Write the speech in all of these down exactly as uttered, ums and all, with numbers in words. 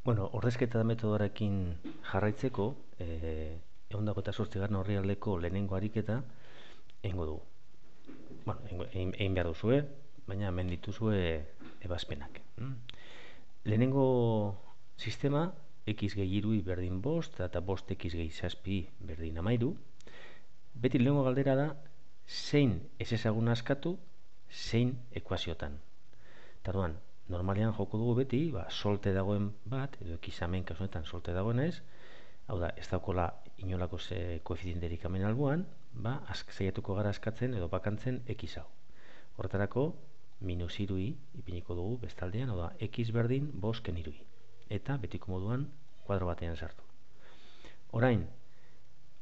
Bueno, ordezketa metodoarekin jarraitzeko, eh, ehun eta zortzigarren orrialdeko lehenengo ariketa egingo dugu. Bueno, egingo- egin, egin behar duzue, baina hemen dituzue ebazpenak. Mm? Lehenengo sistema, x gehi irui berdin bost, eta bost x gehi zazpi berdin amairu. Beti lehenengo galdera da, zein ez ezagun askatu, zein ekuaziotan. Tarduan, normalean joko dugu beti, ba, solte dagoen bat, edo ekizamen kasunetan solte dagoen ez, hau da, ez daukola inolako ze koefizienterik hemen alboan, ba, zeiatuko gara askatzen edo bakantzen x hau. Horretarako, minus irui ipiniko dugu bestaldean, hau da, x berdin bosken irui. Eta betiko moduan kuadro batean sartu. Orain,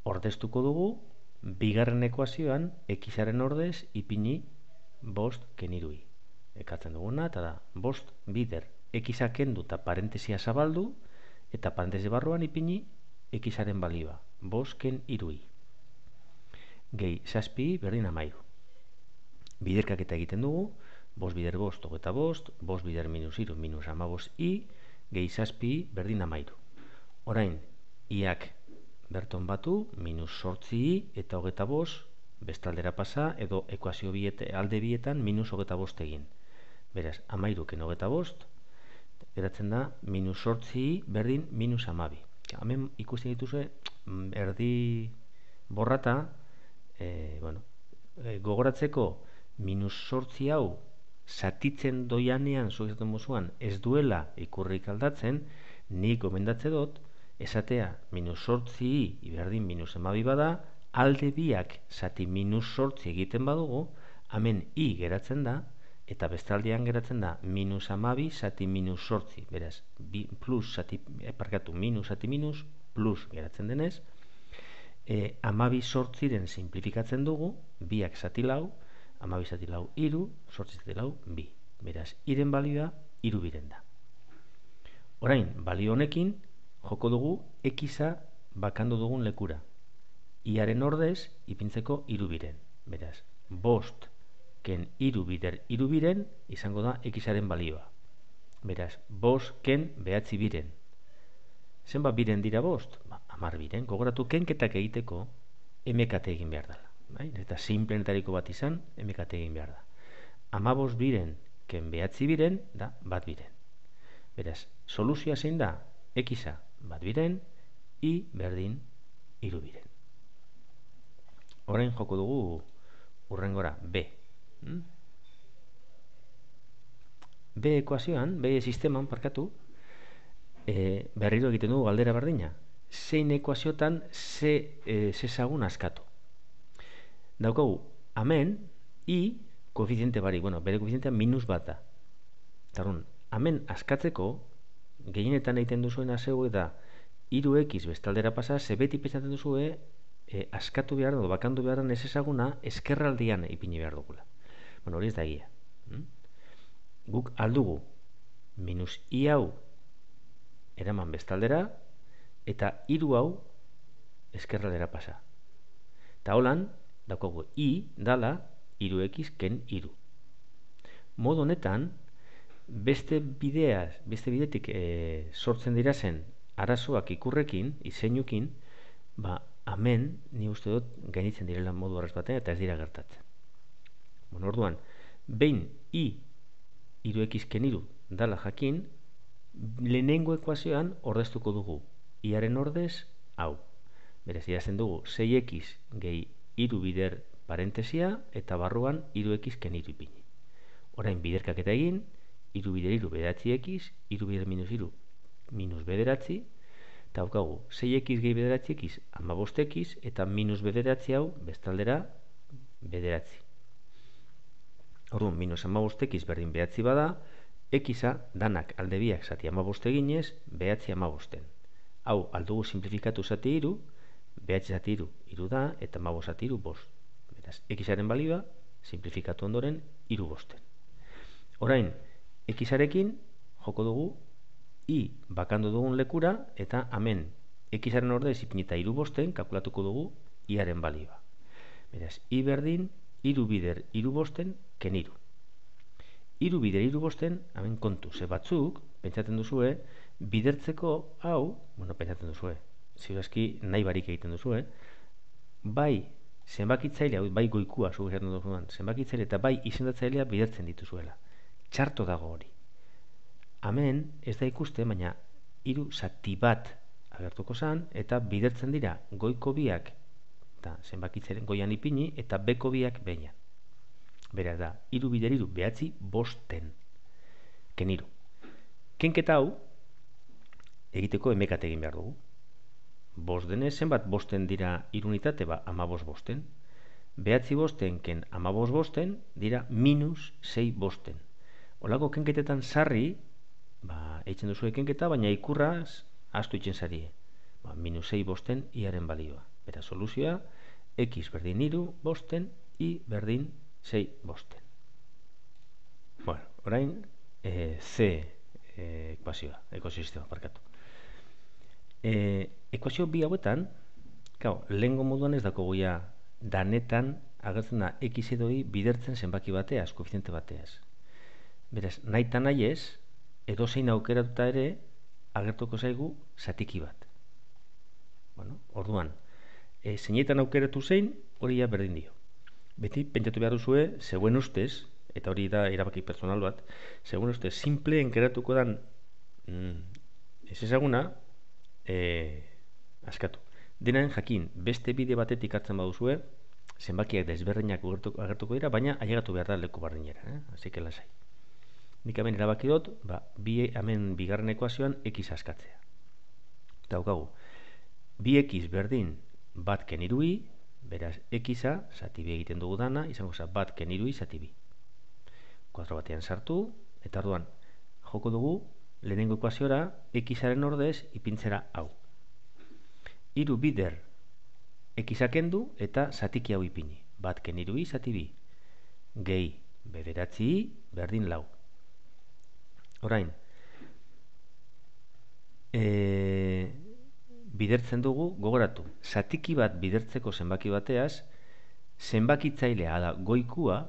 ordeztuko dugu, bigarren ekuazioan, xaren ordez ipini bost kenirui. Ekatzen duguna, eta da, bost bider x-a kendu eta parentesia zabaldu, eta parentesi barruan ipini x-aren balioa, bost ken irui. Gehi, zazpi berdin amairu. Biderkak eta egiten dugu, bost bider bost, hogeta bost, bost bider minus iru, minus amabost i, gehi zazpi berdin amairu. Orain, iak berton batu, minus sortzi i, eta hogeta bost, bestaldera pasa, edo ekuazio biete, alde bietan, minus hogeta bost egin. Beraz, amairuken hogeta bost, geratzen da, minus sortzi i berdin minus amabi. Hemen ikusten dituzue, erdi borrata, e, bueno, e, gogoratzeko, minus sortzi hau, zatitzen doianean, zuezaten mozuan, ez duela ikurrik aldatzen, nik gomendatze dut, esatea, minus sortzi i berdin minus amabi bada, alde biak zati minus sortzi egiten badugu, hemen i geratzen da, eta bestaldean geratzen da minus amabi zati minus sortzi, beraz, bi, plus zati, parkatu, minus zati minus, plus geratzen denez, e, amabi sortziren simplifikatzen dugu, biak zati lau, amabi zati lau iru, sortzi zati lau bi. Beraz, iren balioa iru biren da. Orain, balio honekin, joko dugu x-a bakandu dugun lekura. Iaren ordez, ipintzeko iru biren. Beraz, bost ken iru bider iru biren izango da x-aren balioa. Beraz, bost ken behatzi biren. Zenbat biren dira bost? Ba, amar biren. Gogoratu kenketak egiteko mkt egin behar dela. Bai? Eta simplenetariko bat izan, mkt egin behar da. Amabost biren ken behatzi biren da bat biren. Beraz, soluzioa zein da? X-a bat biren, i berdin iru biren. Orain joko dugu urrengora B. Hmm? B ekuazioan, B sisteman, parkatu, e, berriro egiten dugu galdera berdina. Zein ekuaziotan ze e, zezagun askatu. Daukagu, hemen, i, koefiziente bari, bueno, bere koefizientea minus bat da. Tarun, hemen askatzeko, gehienetan egiten duzuena zeu eta hiru x bestaldera pasa, ze beti pentsatzen duzue, e, askatu behar dugu, bakandu behar ez ezaguna, eskerraldian ipini behar dugula. Bueno, hori ez da egia. Hmm? Guk aldugu minus i hau eraman bestaldera eta hiru hau eskerraldera pasa. Eta holan, daukagu i dala hiru x ken hiru. Modu honetan, beste bideaz, beste bidetik e, sortzen dira zen arazoak ikurrekin, izeinukin, ba, hemen, ni uste dut, gainitzen direla modu arraz batean, eta ez dira gertatzen. Bueno, orduan, behin i hiru x ken hiru dala jakin, lehenengo ekuazioan ordeztuko dugu. Iaren ordez, hau. Berez, idazten dugu, sei x gehi hiru bider parentesia, eta barruan hiru x ken hiru ipini. Orain, biderkak eta egin, hiru bider hiru bederatzi x, hiru bider minus hiru minus bederatzi, eta haukagu, sei x gehi bederatzi x, amabost x, eta minus bederatzi hau, bestaldera, bederatzi. Orduan, minus amabost x berdin behatzi bada, x-a danak alde biak zati amabost eginez, behatzi amabosten. Hau, aldugu simplifikatu zati iru, behatzi zati iru, iru da, eta amabost zati iru, bost. Beraz, x-aren balioa, simplifikatu ondoren, iru bosten. Orain, x-arekin, joko dugu, i bakandu dugun lekura, eta hemen, x-aren ordez ipinita iru bosten, kalkulatuko dugu, i-aren balioa. Beraz, i berdin, iru bider iru bosten, ken iru. Iru bider iru bosten, hemen kontu, ze batzuk, pentsatzen duzue, bidertzeko hau, bueno, pentsatzen duzue, ziurazki nahi barik egiten duzue, bai zenbakitzailea, bai goikua, zu esaten duzuan, zenbakitzailea eta bai izendatzailea bidertzen dituzuela. Txarto dago hori. Hemen ez da ikuste, baina hiru zati bat agertuko zan, eta bidertzen dira goiko biak, eta zenbakitzailean goian ipini, eta beko biak behian. Beraz da, hiru bider hiru, behatzi bosten. Keniru. Kenketa hau, egiteko emekat egin behar dugu. Bost denez, zenbat bosten dira irunitate, ba, amabos bosten. Behatzi bosten, ken amabos bosten, dira minus sei bosten. Olako kenketetan sarri, ba, eitzen duzu kenketa, baina ikurraz, astu itzen zarie. Ba, minus sei bosten, iaren balioa. Bera soluzioa, x berdin iru bosten, y berdin sei bosten. Bueno, orain, e, C e, ekuazioa, ekosistema, parkatu. E, ekuazio bi hauetan, claro, lehengo moduan ez dako goia danetan agertzen da x edo y bidertzen zenbaki bateaz, koefiziente bateaz. Beraz, nahi eta nahi ez, edo zein aukeratuta ere agertuko zaigu zatiki bat. Bueno, orduan, e, zeinetan aukeratu zein, hori ja berdin dio. Beti, pentsatu behar duzue, zeuen ustez, eta hori da erabaki personal bat, zeuen ustez, simpleen geratuko dan mm, ez ezaguna, e, askatu. Denaren jakin, beste bide batetik hartzen baduzue, zenbakiak desberdinak agertuko dira, baina ailegatu behar da leku bardinera, eh? Así que lasai. Nik hemen erabaki dut, ba, bi, hemen bigarren ekuazioan x askatzea. Eta daukagu, bi x berdin bat ken hiru y, beraz x-a, zati bi egiten dugu dana, izango za bat ken hiru y zati bi. Kuadro batean sartu, eta orduan, joko dugu, lehenengo ekuaziora, x-aren ordez ipintzera hau. Hiru bider x-a kendu eta zatiki hau ipini. Bat ken hiru y zati bi. Gehi bederatzi y berdin lau. Orain, e, bidertzen dugu, gogoratu, zatiki bat bidertzeko zenbaki bateaz, zenbakitzailea da goikua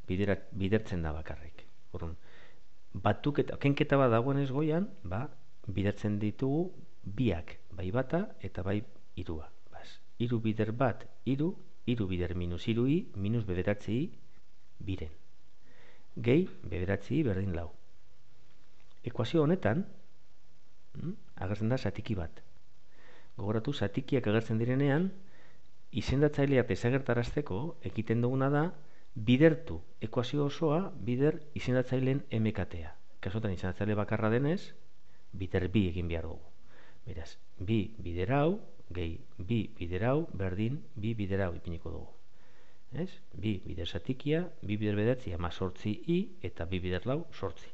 biderat, bidertzen da bakarrik. Orduan, batuketa, kenketa bat dagoenez goian, ba, bidertzen ditugu biak, bai bata eta bai irua. Bas, iru bider bat, iru, iru bider minus iru y, minus bederatzi y, biren. Gehi, bederatzi y berdin lau. Ekuazio honetan, hm, agertzen da zatiki bat. Gogoratu, zatikiak agertzen direnean, izendatzailea desagertarazteko ekiten duguna da, bidertu ekuazio osoa, bider izendatzaileen emekatea. Kasotan izendatzaile bakarra denez, bider bi egin behar dugu. Beraz, bi bider hau, gehi bi bider hau, berdin bi bider hau ipiniko dugu. Ez? Bi bider zatikia, bi bider bederatzi, ama sortzi i, eta bi bider lau, sortzi.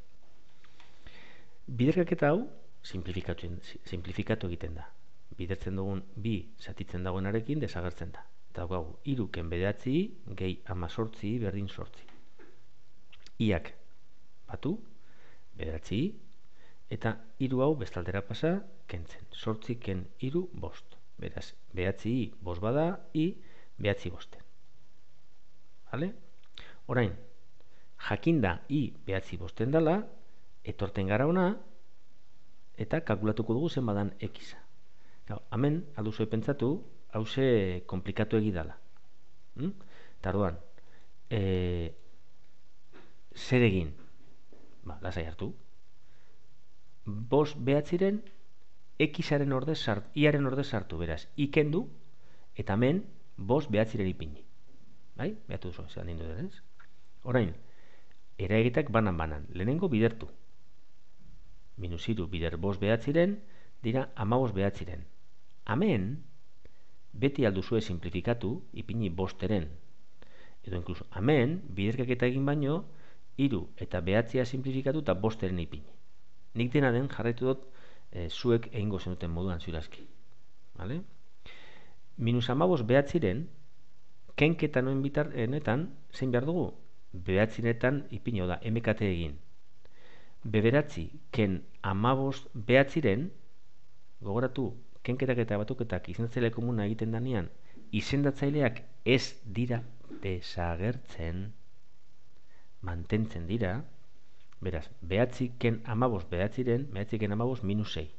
Biderkaketa hau, simplifikatu egiten da. Bidertzen dugun bi zatitzen dagoenarekin desagertzen da. Eta gau, iruken bederatzi i, gehi ama sortzi i, berdin sortzi. Iak batu, bederatzi i, eta hiru hau bestaldera pasa, kentzen. Sortzi ken hiru bost. Beraz, behatzi i bost bada, i behatzi bosten. Vale? Orain, jakinda i behatzi bosten dala, etorten gara ona, eta kalkulatuko dugu zen badan x-a. Hemen, alduzue pentsatu, hause komplikatu egidala. Hm? Eta orduan, e, zer egin? Ba, lasai hartu. Bost behatziren, x-aren ordez sartu, i-aren ordez sartu, beraz, ikendu, eta hemen, bost behatziren ipini. Bai? Behatu duzu, zelan dindu denez. Orain, eraegitak banan-banan, lehenengo bidertu. Minus iru bider bost behatziren, dira amabos behatziren. Hemen, beti alduzue simplifikatu, ipini bosteren. Edo inkluso, hemen, biderkaketa egin baino, hiru eta behatzia simplifikatu eta bosteren ipini. Nik dena den jarraitu dut e, zuek egingo zenuten moduan ziurazki. Vale? Minus amabos behatziren, kenketa noen bitarrenetan, zein behar dugu? Behatzinetan ipini, da, emekate egin. Beberatzi, ken amabost behatziren, gogoratu, kenketak eta batuketak izendatzaile komuna egiten danean, izendatzaileak ez dira desagertzen, mantentzen dira, Beraz, behatzi ken amabost behatziren, behatzi ken amabost minus sei.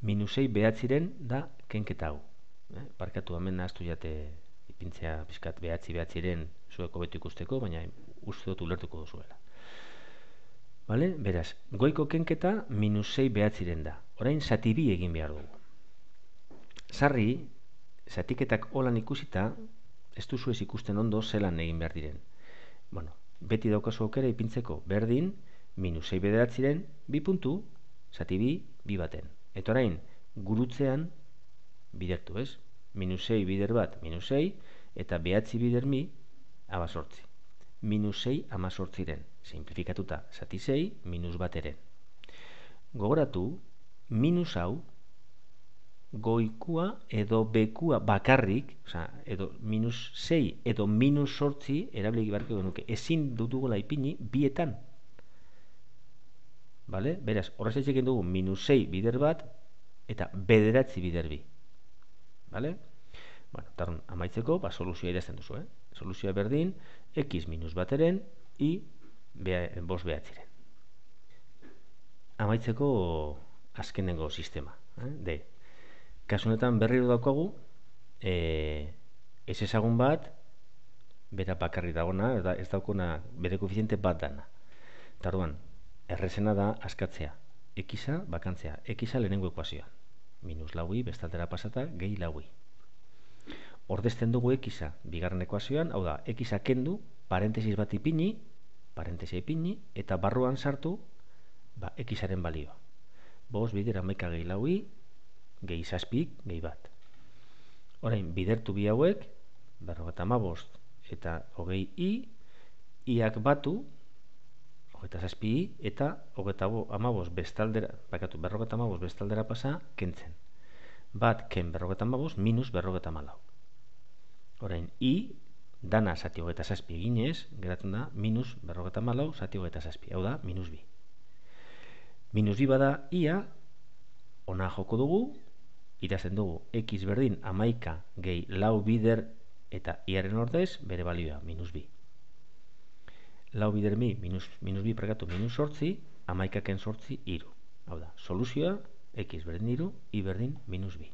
Minus sei behatziren da kenketa hau. Eh? Parkatu hemen nahaztu jate ipintzea pizkat behatzi behatziren zueko betu ikusteko, baina uste dut ulertuko duzuela. Vale? Beraz, goiko kenketa minus sei behatziren da. Orain zati bi egin behar dugu. Sarri, zatiketak holan ikusita, ez duzu ez ikusten ondo zelan egin behar diren. Bueno, beti daukazu aukera ipintzeko berdin, minus sei bederatziren, bi puntu, zati bi, bi baten. Eta orain, gurutzean, bidertu ez? Minus sei bider bat, minus sei, eta behatzi bider mi, amazortzi. Minus sei amazortziren. Simplifikatuta, zati sei, minus bateren. Gogoratu, minus hau, goikua edo bekua bakarrik, oza, edo minus sei edo minus sortzi, erabilik barko genuke, ezin dutugola ipini bietan. Vale? Beraz, horrez etxekin dugu minus sei bider bat eta bederatzi bider bi. Vale? Bueno, tarun, amaitzeko, ba, soluzioa idazten duzu, eh? Soluzioa berdin, x minus bateren, i bea, bos behatziren. Amaitzeko azkenengo sistema, eh? D. Kasunetan berriro daukagu, e, ez ezagun bat, bera bakarri dagona, ez daukona bere koefiziente bat dana. Tarduan, errezena da askatzea, x-a bakantzea, x-a lehenengo ekuazioan. Minus laui, bestaldera pasata, gehi laui. Ordezten dugu x-a bigarren ekuazioan, hau da, x-a kendu, parentesis bat ipini, parentesia ipini, eta barruan sartu, ba, x-aren balioa. Bos, bider, amaika gehi laui, gehi zazpik, gehi bat. Orain, bidertu bi hauek, berrogeta amabost eta hogei i, iak batu, hogeta zazpi i, eta hogeta amabost bestaldera, bakatu, berrogeta amabost bestaldera pasa, kentzen. Bat, ken berrogeta amabost, minus berrogeta amalau. Orain, i, dana zati hogeta zazpi eginez, geratzen da, minus berrogeta amalau, zati hogeta zazpi. Hau da, minus bi. Minus bi bada, ia, ona joko dugu, idazten dugu, x berdin amaika gehi lau bider eta iaren ordez bere balioa, minus bi. Lau bider mi, minus, minus bi prekatu minus sortzi, amaikaken sortzi, iru. Hau da, soluzioa, x berdin iru, i berdin minus bi.